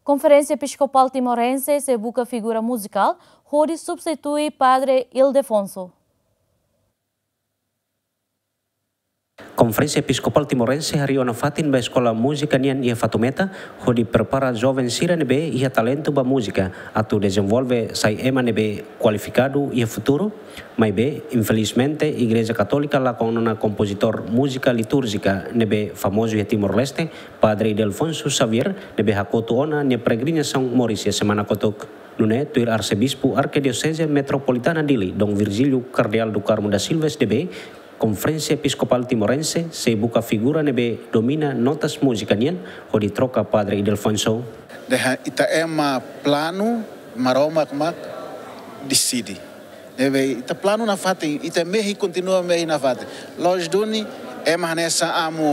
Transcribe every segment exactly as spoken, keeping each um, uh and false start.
Konferénsia Episkopál Timorense sei buka figura muzikál hodi substitui Padre Ildefonso. Konferénsia Episkopál Timorense harii ona fatin ba eskola múzika nian iha Fatumeta, hodi prepara joven sira ne'ebé iha talentu ba múzika, atu dezenvolve sai ema ne'ebé kualifikadu iha futuru. Maibé, infelizmente, Igreja Katólika lakon ona kompozitór múzika litúrjika ne'ebé famozu iha Timor-Leste, Padre Ildefonso Xavier, ne'ebé hakotu ona nia peregrinasaun moris iha semana kotuk. Nune'e, tuir Arsebispu Arkidioseze Metropolitana Dili, Dom Virgílio Cardeal do Carmo da Silva S D B, Konferénsia Episkopál Timorense sei buka figura ne'ebé domina notas múzika nian hodi troka Padre Ildefonso. Dehan ita ema planu, Maromak mak deside. Ne'ebé ita planu nafatin, ita mehi, kontinua mehi nafatin. Loos duni, ema hanesan amu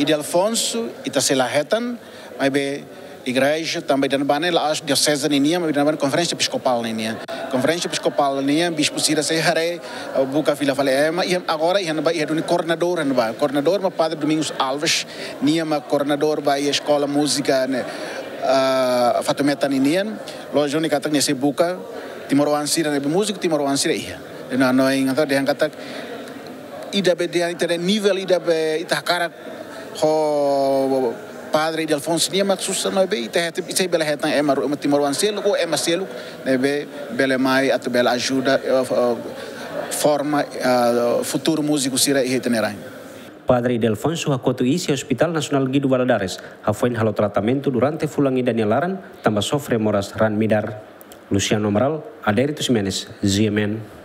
Ildefonso, ita sei la hetan, maibé igreja, tanba ida-ne'ebá ne'e la'ós dioseze ninian, maibé ida-ne'ebá ne'e konferénsia episkopál ninian. Konferénsia episkopál nian, bispu sira sei haree, eh, buka fila fali ema, i agora iha ne'ebá iha duni koordenadór iha ne'ebá. Koordenadór mak Padre Domingos Alves, nia mak koordenadór ba iha eskola múzika ne'e, ah, Fatumeta ninian. Loos duni katak nia sei buka timoroan sira ne'ebé múziku timoroan sira iha. Entaun, no, entaun dehan katak ida be dehan ita nivel ida be ita hakarak ho Padre Ildefonso nian mak susar, maibé ita hetan, ita bele hetan ema ru-, ema timoroan seluk ou ema seluk ne'ebé bele mai atu bele ajuda, eh, eh, forma, eh, futuru múziku sira iha ita-nia rain. Padre Ildefonso hakotu iis iha Hospital Nasionál Guido Valadares, hafoin halo tratamentu durante fulan ida nia laran, tanba sofre moras raan midar. Luciano Amaral, Adérito Ximenes, G M N.